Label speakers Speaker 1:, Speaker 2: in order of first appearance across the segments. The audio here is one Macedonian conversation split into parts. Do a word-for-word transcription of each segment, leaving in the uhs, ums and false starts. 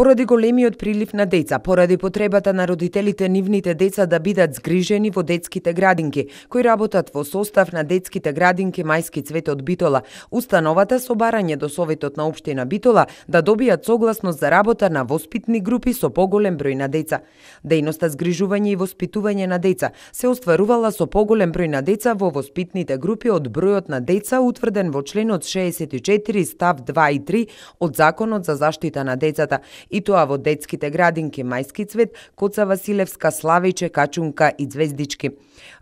Speaker 1: Поради големиот прилив на деца, поради потребата на родителите нивните деца да бидат згрижени во детските градинки, кои работат во состав на детските градинки Мајски цвет од Битола, установата со барање до Советот на општина Битола да добијат согласност за работа на воспитни групи со поголем број на деца. Дејноста згрижување и воспитување на деца се остварувала со поголем број на деца во воспитните групи од бројот на деца утврден во членот шеесет и четири став два и три од Законот за заштита на децата, и тоа во детските градинки Мајски цвет, Коца Василевска, Славиче, Качунка и Звездички.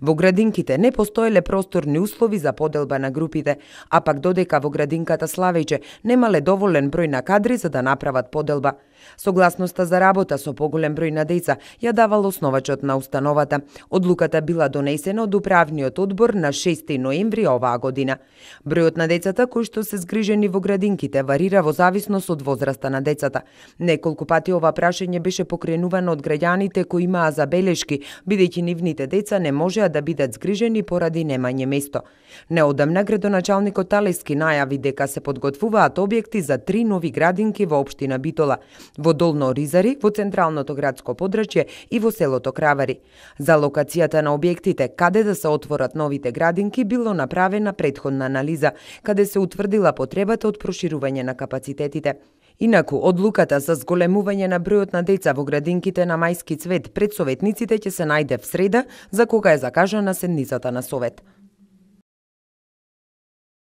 Speaker 1: Во градинките не постоеле просторни услови за поделба на групите, а пак додека во градинката Славиче немале доволен број на кадри за да направат поделба. Согласноста за работа со поголем број на деца ја давал основачот на установата. Одлуката била донесена од управниот одбор на шести ноември оваа година. Бројот на децата кои што се згрижени во градинките варира во зависност од возраста на децата. Неколку пати ова прашање беше покренувано од граѓаните кои имаа забелешки, бидејќи нивните деца не можеа да бидат згрижени поради немање место. Неодамна градоначалникот Талески најави дека се подготвуваат објекти за три нови градинки во општина Битола, во Долно Оризари, во централното градско подрачје и во селото Кравари. За локацијата на објектите каде да се отворат новите градинки било направена претходна анализа, каде се утврдила потребата од проширување на капацитетите. Инаку, одлуката за зголемување на бројот на деца во градинките на Мајски цвет пред советниците ќе се најде в среда, за кога е закажана седницата на Совет.